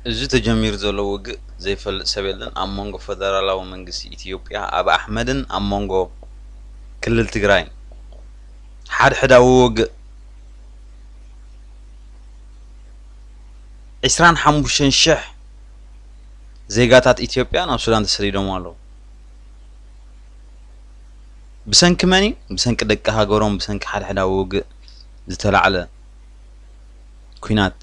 እዚ ተጀሚሩ ዘሎ ውግእ ዘይፈልጥ ሰብ የለን። ኣብ መንጎ ፈደራላዊ መንግስቲ ኢትዮጵያ ኣብ ኣሕመድን ኣብ መንጎ ክልል ትግራይን ሓድሕዳዊ ውግእ። ዕስራን ሓሙሽተን ሽሕ ዜጋታት ኢትዮጵያ ናብ ሱዳን ተሰዲዶም ኣለዉ። ብሰንኪ መን እዩ? ብሰንኪ ደቂ ሃገሮም፣ ብሰንኪ ሓድሕዳዊ ውግእ ዝተላዕለ ኲናት።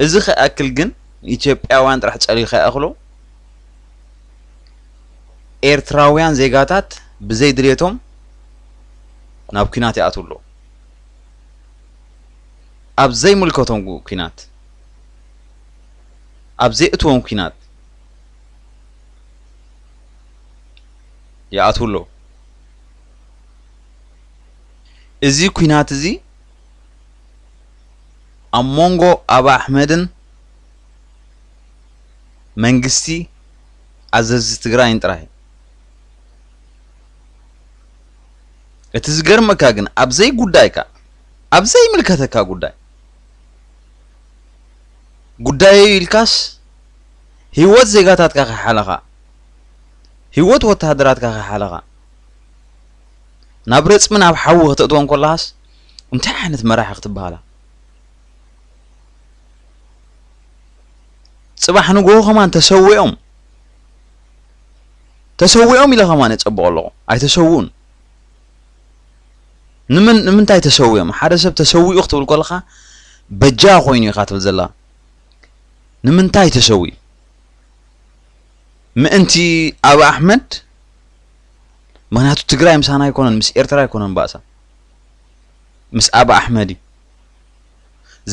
እዚ ከይኣክል ግን ንኢትዮጵያውያን ጥራሕ ጸልዩ ከይኣኽሎ ኤርትራውያን ዜጋታት ብዘይ ድሌቶም ናብ ኲናት ይኣትዉ ኣለዉ። ኣብ ዘይምልከቶም ኲናት፣ ኣብ ዘይእትዎም ኲናት ይኣትዉ ኣለዉ። እዚ ኲናት እዚ ኣብ መንጎ ኣብ ኣሕመድን መንግስቲ ኣዘዝቲ ትግራይን ጥራይ። እቲ ዝገርመካ ግን ኣብ ዘይጉዳይካ፣ ኣብ ዘይምልከተካ ጉዳይ፣ ጉዳየይ ኢልካስ ህይወት ዜጋታትካ ከይሓለኻ፣ ህይወት ወተሃደራትካ ከይሓለኻ፣ ናብ ረጽሚ ናብ ሓዊ ከተእትዎም ከለኻስ እንታይ ዓይነት መራሒ ክትበሃላ? ጽባሕ ንግሆ ከማን ተሰዊኦም፣ ተሰዊኦም ኢለ ከማን የጸብቖ ኣለኹ። ኣይተሰውኡን። ንምን-፣ ንምንታይ ተሰዊኦም? ሓደ ሰብ ተሰዊኡ ክትብል ከለኻ በጃ ኮይኑ ኢኻ ትብል ዘላ። ንምንታይ ተሰዊኡ? ምእንቲ ኣብ ኣሕመድ? ምኽንያቱ ትግራይ ምሳና ኣይኮነን፣ ምስ ኤርትራ ኣይኮነን ባእሳ። ምስ ኣብ ኣሕመድ እዩ።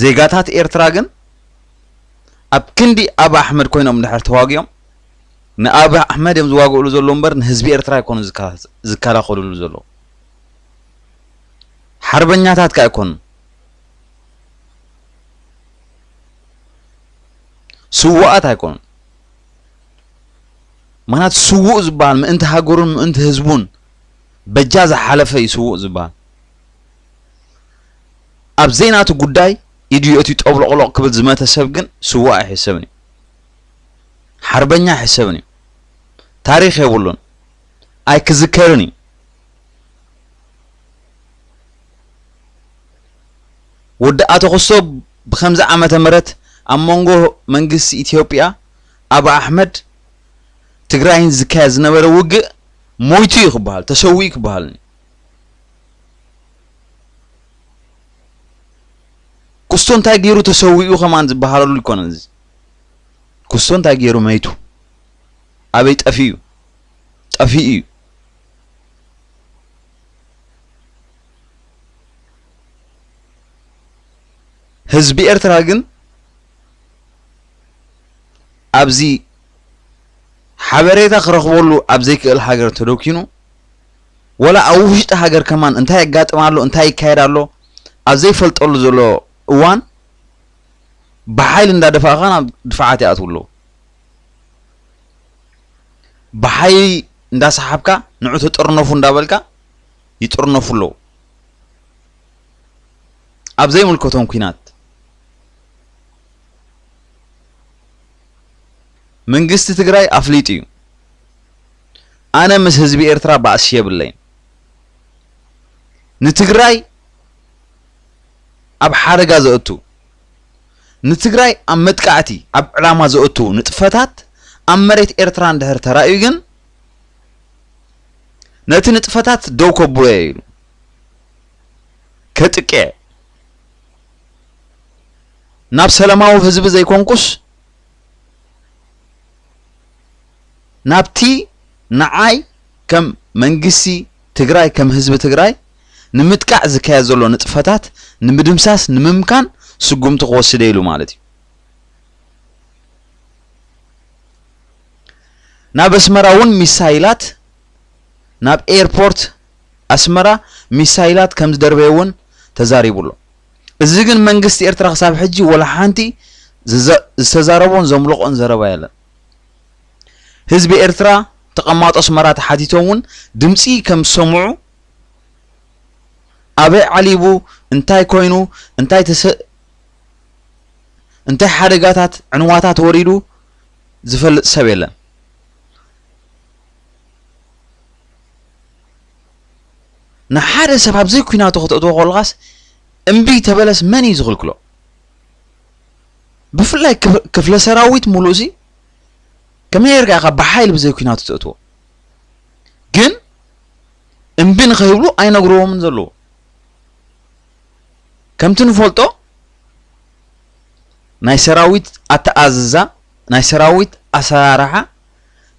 ዜጋታት ኤርትራ ግን ኣብ ክንዲ ኣብ ኣሕመድ ኮይኖም እንድሕር ተዋጊኦም፣ ንኣብ ኣሕመድ እዮም ዝዋግእሉ ዘለዉ እምበር ንህዝቢ ኤርትራ ኣይኮኑን ዝካ-፣ ዝከላኸልሉ ዘለዉ። ሓርበኛታት ከ ኣይኮኑን። ስዉኣት ኣይኮኑን። ምኽንያቱ ስዉእ ዝበሃል ምእንቲ ሃገሩን ምእንቲ ህዝቡን በጃ ዝሓለፈ እዩ ስዉእ ዝበሃል። ኣብ ዘይናቱ ጉዳይ ኢዱ የእትዩ ጠብሎቕሎቕ ክብል ዝመተ ሰብ ግን ስዉእ ኣይሕሰብን እዩ። ሓርበኛ ኣይሕሰብን እዩ። ታሪኽ የብሉን። ኣይክዝከርን እዩ። ወዲ ኣቶ ክስቶ ብኸምዚ ዓመተ ምህረት ኣብ መንጎ መንግስቲ ኢትዮጵያ ኣብ ኣሕመድ ትግራይን ዝካየድ ዝነበረ ውግእ ሞይቱ እዩ ክበሃል፣ ተሰዊኡ ክበሃል እዩ። ክስቶ እንታይ ገይሩ ተሰዊኡ ከማን ዝበሃለሉ ኣይኮነን። እዚ ክስቶ እንታይ ገይሩ መይቱ? ኣበይ ጠፊኡ? ጠፊኡ እዩ። ህዝቢ ኤርትራ ግን ኣብዚ ሓበሬታ ክረኽበሉ ኣብ ዘይክእል ሃገር ተደኪኑ፣ ወላ ኣብ ውሽጢ ሃገር ከማን እንታይ የጋጥም ኣሎ፣ እንታይ ይካየድ ኣሎ ኣብ ዘይፈልጠሉ ዘሎ እዋን፣ ብሓይሊ እንዳደፋእኻ ናብ ድፋዓት ይኣትዉ ኣለዉ። ብሓይሊ እንዳሰሓብካ ንዑ ተጠርነፉ እንዳበልካ ይጥርነፉ ኣለዉ። ኣብ ዘይምልከቶም ኲናት መንግስቲ ትግራይ ኣፍሊጡ እዩ። ኣነ ምስ ህዝቢ ኤርትራ ባእሲ የብለይን። ንትግራይ ኣብ ሓደጋ ዘእቱ፣ ንትግራይ ኣብ መጥቃዕቲ፣ ኣብ ዕላማ ዘእቱ ንጥፈታት ኣብ መሬት ኤርትራ እንድሕር ተራእዩ ግን ነቲ ንጥፈታት ደው ከብሎ እየ ኢሉ ከጥቅዕ፣ ናብ ሰላማዊ ህዝቢ ዘይኮንኩስ ናብቲ ንዓይ ከም መንግስቲ ትግራይ፣ ከም ህዝቢ ትግራይ ንምጥቃዕ ዝካየድ ዘሎ ንጥፈታት ንምድምሳስ፣ ንምምካን ስጉምቲ ክወስድ እየ ኢሉ ማለት እዩ። ናብ ኣስመራ እውን ሚሳይላት፣ ናብ ኤርፖርት ኣስመራ ሚሳይላት ከም ዝደርበየ እውን ተዛሪቡ ኣሎ። እዚ ግን መንግስቲ ኤርትራ ክሳብ ሕጂ ወላ ሓንቲ ዝዘ-፣ ዝተዛረቦን ዘምለቖን ዘረባ የለን። ህዝቢ ኤርትራ፣ ተቐማጦ ኣስመራ ተሓቲቶም እውን ድምፂ ከም ዝሰምዑ፣ ኣበይ ዓሊቡ፣ እንታይ ኮይኑ፣ እንታይ ተሰ-፣ እንታይ ሓደጋታት፣ ዕንዋታት ወሪዱ ዝፈልጥ ሰብ የለን። ንሓደ ሰብ ኣብ ዘይኲናቱ ከተእትዎ ከለኻስ፣ እምቢ ተበለስ መን እዩ ዝኽልክሎ? ብፍላይ ክፍ-፣ ክፍለ ሰራዊት ሙሉእሲ ከመይ ጌርካ ኢኻ ብሓይሊ ብዘይ ኲናቱ ተእትዎ? ግን እምቢ ንኸይብሉ ኣይነግርዎምን ዘለዎ። ከምቲ ንፈልጦ፣ ናይ ሰራዊት ኣተኣዝዛ፣ ናይ ሰራዊት ኣሰራርሓ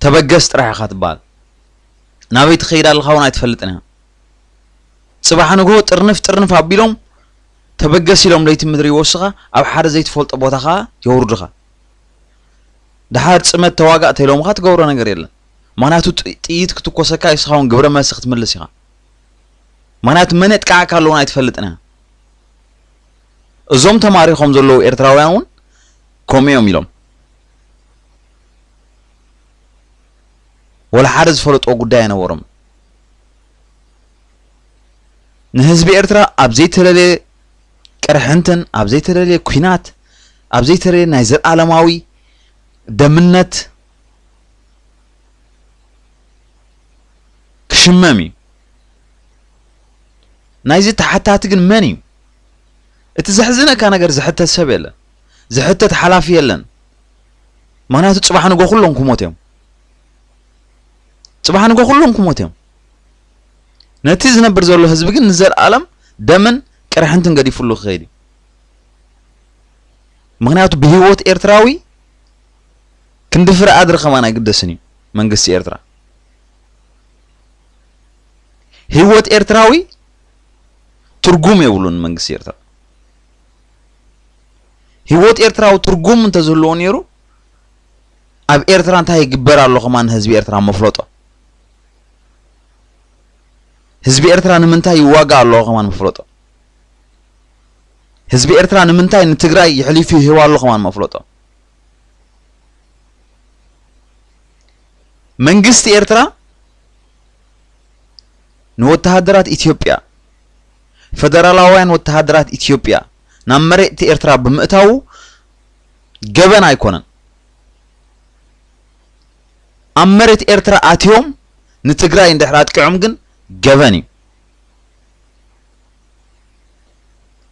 ተበገስ ጥራሕ ኢኻ ትበሃል። ናበይ ትኸይድ ኣለኻ እውን ኣይትፈልጥን ኢኻ። ጽባሕ ንግሆ ጥርንፍ ጥርንፍ ኣቢሎም ተበገስ ኢሎም ለይቲ ምድሪ ይወስኻ፣ ኣብ ሓደ ዘይትፈልጦ ቦታ ኸኣ የውርዱኻ። ደሓር ጽመት ተዋጋእ ተኢሎምኻ ትገብሮ ነገር የለን። ምኽንያቱ ጥ-፣ ጥይት ክትኮሰካ ንስኻ እውን ግብረ መልሲ ክትምልስ ኢኻ። ምኽንያቱ መን የጥቅዓካ ኣለውን ኣይትፈልጥን ኢኻ። እዞም ተማሪኾም ዘለዉ ኤርትራውያን እውን ከምኡ እዮም ኢሎም። ወላ ሓደ ዝፈለጥዎ ጉዳይ ኣይነበሮም። ንህዝቢ ኤርትራ ኣብ ዘይተለለየ ቅርሕንትን፣ ኣብ ዘይተለለየ ኲናት፣ ኣብ ዘይተለለየ ናይ ዘልኣለማዊ ደምነት ክሽመም እዩ። ናይዚ ተሓታቲ ግን መን እዩ? እቲ ዘሕዝነካ ነገር ዝሕተት ሰብ የለን። ዝሕተት ሓላፊ የለን። ምኽንያቱ ጽባሕ ንጎ ኩሎም ክሞት እዮም። ጽባሕ ንጎ ኩሎም ክሞት እዮም። ነቲ ዝነብር ዘሎ ህዝቢ ግን ንዘልኣለም ደምን ቅርሕንትን ገዲፉሉ ክኸይድ እዩ። ምኽንያቱ ብህይወት ኤርትራዊ ክንዲ ፍረ ኣድሪ ከማን ኣይግደስን እዩ መንግስቲ ኤርትራ። ህይወት ኤርትራዊ ትርጉም የብሉን መንግስቲ ኤርትራ። ህይወት ኤርትራዊ ትርጉም እንተዝህልዎ ነይሩ፣ ኣብ ኤርትራ እንታይ ይግበር ኣሎ ከማን ህዝቢ ኤርትራ መፍለጦ። ህዝቢ ኤርትራ ንምንታይ ይዋጋእ ኣሎ ከማን መፍለጦ። ህዝቢ ኤርትራ ንምንታይ ንትግራይ የሕሊፉ ይህብ ኣሎ ከማን መፍለጦ። መንግስቲ ኤርትራ ንወተሃደራት ኢትዮጵያ፣ ፈደራላውያን ወተሃደራት ኢትዮጵያ ናብ መሬት ኤርትራ ብምእታዉ ገበን ኣይኮነን። ኣብ መሬት ኤርትራ ኣትዮም ንትግራይ እንድሕር ኣጥቂዖም ግን ገበን እዩ።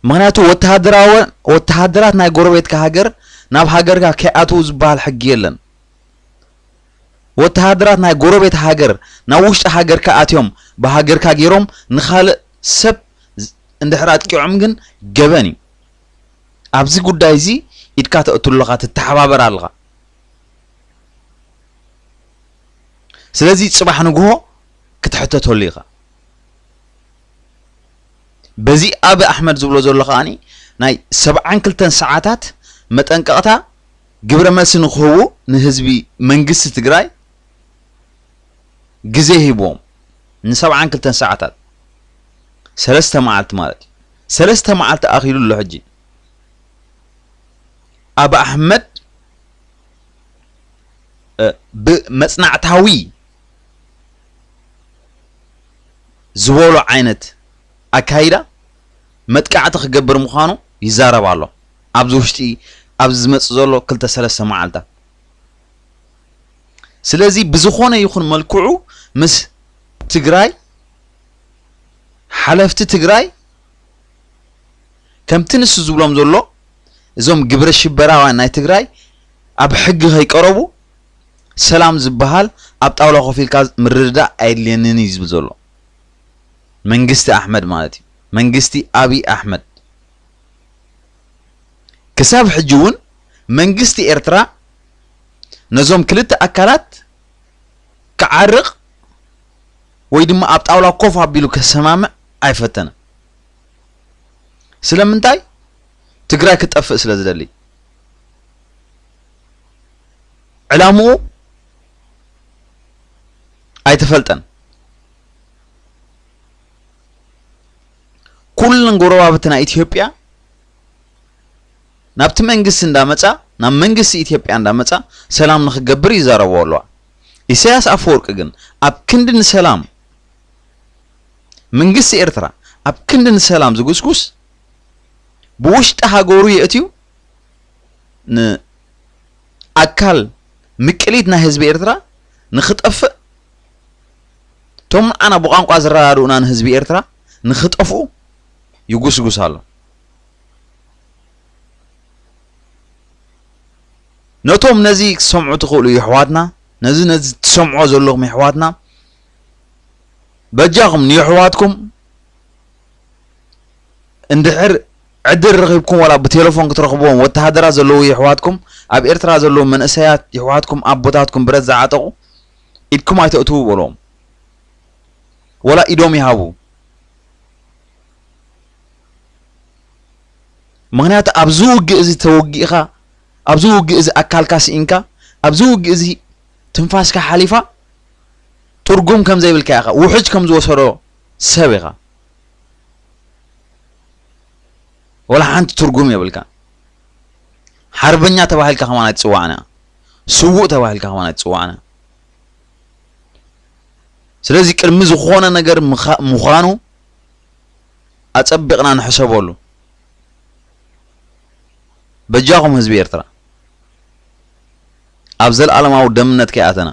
ምኽንያቱ ወተሃደራዊ፣ ወተሃደራት ናይ ጎረቤትካ ሃገር ናብ ሃገርካ ከይኣትዉ ዝበሃል ሕጊ የለን። ወተሃደራት ናይ ጎረቤት ሃገር ናብ ውሽጢ ሃገርካ ኣትዮም ብሃገርካ ገይሮም ንኻልእ ሰብ ዝ-፣ እንድሕር ኣጥቂዖም ግን ገበን እዩ። ኣብዚ ጉዳይ እዚ ኢድካ ተእቱ ኣለኻ፣ ትተሓባበር ኣለኻ። ስለዚ ጽባሕ ንግሆ ክትሕተተሉ ኢኻ። በዚ ኣቢ ኣሕመድ ዝብሎ ዘሎ ከኣኒ ናይ ሰብዓን ክልተን ሰዓታት መጠንቀቕታ ግብረ መልሲ ንክህቡ ንህዝቢ መንግስቲ ትግራይ ግዜ ሂብዎም። ንሰብዓን ክልተን ሰዓታት፣ ሰለስተ መዓልቲ ማለት እዩ። ሰለስተ መዓልቲ ኣኺሉ ኣሎ ሕጂ። ኣቢ ኣሕመድ፣ እ፣ ብመጽናዕታዊ ዝበሎ ዓይነት ኣካይዳ መጥቃዕቲ ክገብር ምዃኑ ይዛረብ ኣሎ። ኣብዚ ውሽጢ፣ ኣብዚ ዝመጽእ ዘሎ ክልተ ሰለስተ መዓልታት። ስለዚ ብዝኾነ ይኹን መልክዑ ምስ ትግራይ፣ ሓለፍቲ ትግራይ፣ ከምቲ ንሱ ዝብሎም ዘሎ፣ እዞም ግብረ ሽበራውያን ናይ ትግራይ ኣብ ሕጊ ከይቀረቡ ሰላም ዝበሃል ኣብ ጣውላ ኮፍ ኢልካ ምርድዳእ ኣየድልየንን እዩ ዝብል ዘሎ። መንግስቲ ኣሕመድ ማለት እዩ። መንግስቲ ኣብይ ኣሕመድ። ክሳብ ሕጂ እውን መንግስቲ ኤርትራ ነዞም ክልተ ኣካላት ክዓርቕ ወይ ድማ ኣብ ጣውላ ኮፍ ኣቢሉ ከሰማምዕ ኣይፈተነን። ስለምንታይ? ትግራይ ክትጠፍእ ስለ ዝደሊ። ዕላምኡ ኣይተፈልጠን። ኩለን ጎረባብቲ ናይ ኢትዮጵያ ናብቲ መንግስቲ እንዳመጻ፣ ናብ መንግስቲ ኢትዮጵያ እንዳመጻ ሰላም ንክገብር ይዛረብዎ ኣለዋ። ኢሳያስ ኣፈወርቂ ግን ኣብ ክንዲ ንሰላም፣ መንግስቲ ኤርትራ ኣብ ክንዲ ንሰላም ዝጉስጉስ፣ ብውሽጢ ሃገሩ የእትዩ ንኣካል ምቅሊት ናይ ህዝቢ ኤርትራ ንኽጠፍእ፣ እቶም ንዓና ብቋንቋ ዝረዳድኡና ንህዝቢ ኤርትራ ንኽጠፍኡ ይጉስጉስ ኣሎ። ነቶም ነዚ ክትሰምዑ ትኽእሉ የሕዋትና፣ ነዚ ነዚ ትሰምዖ ዘለኹም የሕዋትና፣ በጃኹም ንየሕዋትኩም እንድሕር ዕድል ረኺብኩም፣ ዋላ ብቴሌፎን ክትረኽብዎም፣ ወተሃደራት ዘለዉ የሕዋትኩም፣ ኣብ ኤርትራ ዘለዉ መንእሰያት የሕዋትኩም፣ ኣቦታትኩም ብረት ዝዓጠቑ፣ ኢድኩም ኣይተእትዉ በልዎም። ወላ ኢዶም ይሃቡ። ምኽንያቱ ኣብዚ ውግእ እዚ ተወጊእኻ፣ ኣብዚ ውግእ እዚ ኣካልካ ስኢንካ፣ ኣብዚ ውግእ እዚ ትንፋስካ ሓሊፋ፣ ትርጉም ከም ዘይብልካ ኢኻ፣ ውሕጅ ከም ዝወሰዶ ሰብ ኢኻ። ወላ ሓንቲ ትርጉም የብልካ። ሓርበኛ ተባሂልካ ከማን ኣይትጽዋዕን ኢኻ። ስዉእ ተባሂልካ ከማን ኣይትጽዋዕን ኢኻ። ስለዚ ቅድሚ ዝኾነ ነገር ምኻ-፣ ምዃኑ ኣጸቢቕና ንሕሰበሉ። በጃኹም ህዝቢ ኤርትራ፣ ኣብ ዘልኣለማዊ ደምነት ከይኣተና፣